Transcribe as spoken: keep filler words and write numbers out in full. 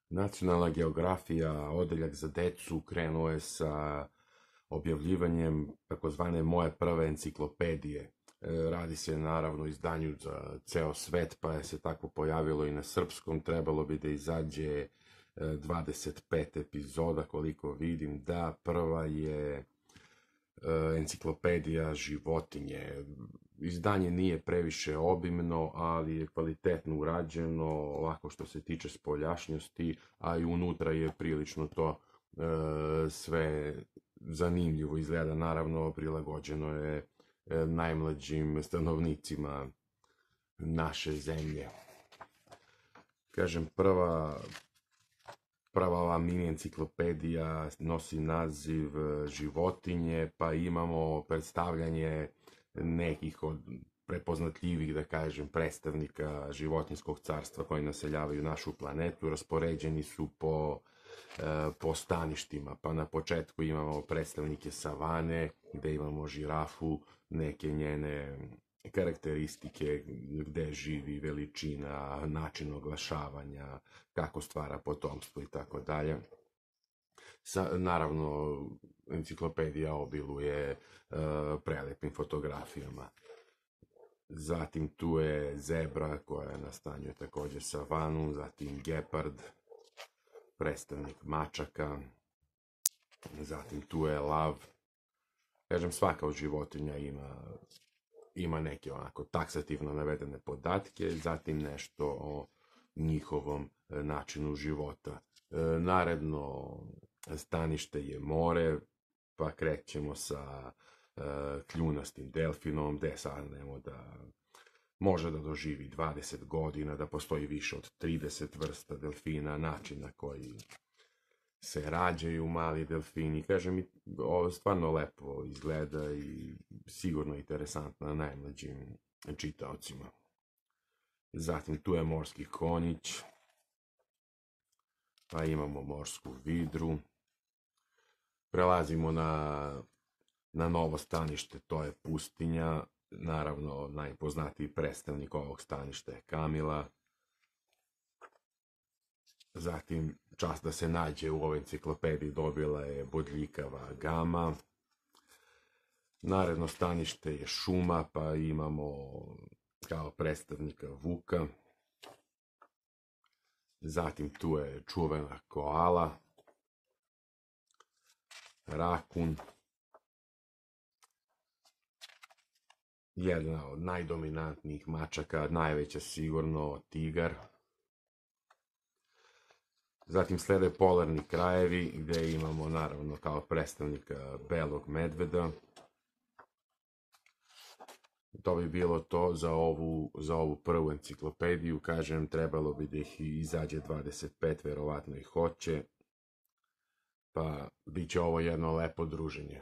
Nacionalna geografija, odeljak za decu, krenuo je sa objavljivanjem takozvane moje prve enciklopedije. Radi se naravno o izdanju za ceo svet, pa je se tako pojavilo i na srpskom. Trebalo bi da izađe dvadeset pet epizoda, koliko vidim. Da, prva je enciklopedija životinje. Izdanje nije previše obimno, ali je kvalitetno urađeno, ovako što se tiče spoljašnjosti, a i unutra je prilično to e, sve zanimljivo izgleda. Naravno, prilagođeno je e, najmlađim stanovnicima naše zemlje. Kažem, prva Prva ova mini enciklopedija nosi naziv životinje, pa imamo predstavljanje nekih od prepoznatljivih, da kažem, predstavnika životinjskog carstva koji naseljavaju našu planetu. Raspoređeni su po, po staništima, pa na početku imamo predstavnike savane, gde imamo žirafu, neke njene karakteristike, gde živi, veličina, način oglašavanja, kako stvara potomstvo i tako dalje. Naravno, enciklopedija obiluje uh, prelepim fotografijama. Zatim tu je zebra koja nastanjuje također savanu, zatim gepard, predstavnik mačaka, zatim tu je lav. Kažem, svaka od životinja ima ima neke onako taksativno navedene podatke, zatim nešto o njihovom načinu života. Naredno stanište je more, pa krećemo sa kljunastim delfinom, gde saznajemo da može da doživi dvadeset godina, da postoji više od trideset vrsta delfina, način na koji se rađaju mali delfini. Kažem, ovo stvarno lepo izgleda i sigurno interesantno najmlađim čitaocima. Zatim tu je morski konjić, pa imamo morsku vidru. Prelazimo na, na novo stanište, to je pustinja. Naravno, najpoznatiji predstavnik ovog staništa je kamila. Zatim, čast da se nađe u ovoj enciklopediji dobila je bodljikava gama. Naredno stanište je šuma, pa imamo kao predstavnika vuka. Zatim tu je čuvena koala, rakun, jedna od najdominantnijih mačaka, najveća sigurno tigar. Zatim slede polarni krajevi, gde imamo naravno kao predstavnika belog medveda. To bi bilo to za ovu, za ovu prvu enciklopediju. Kažem, trebalo bi da ih izađe dvadeset pet, verovatno i hoće. Pa bit će ovo jedno lepo druženje.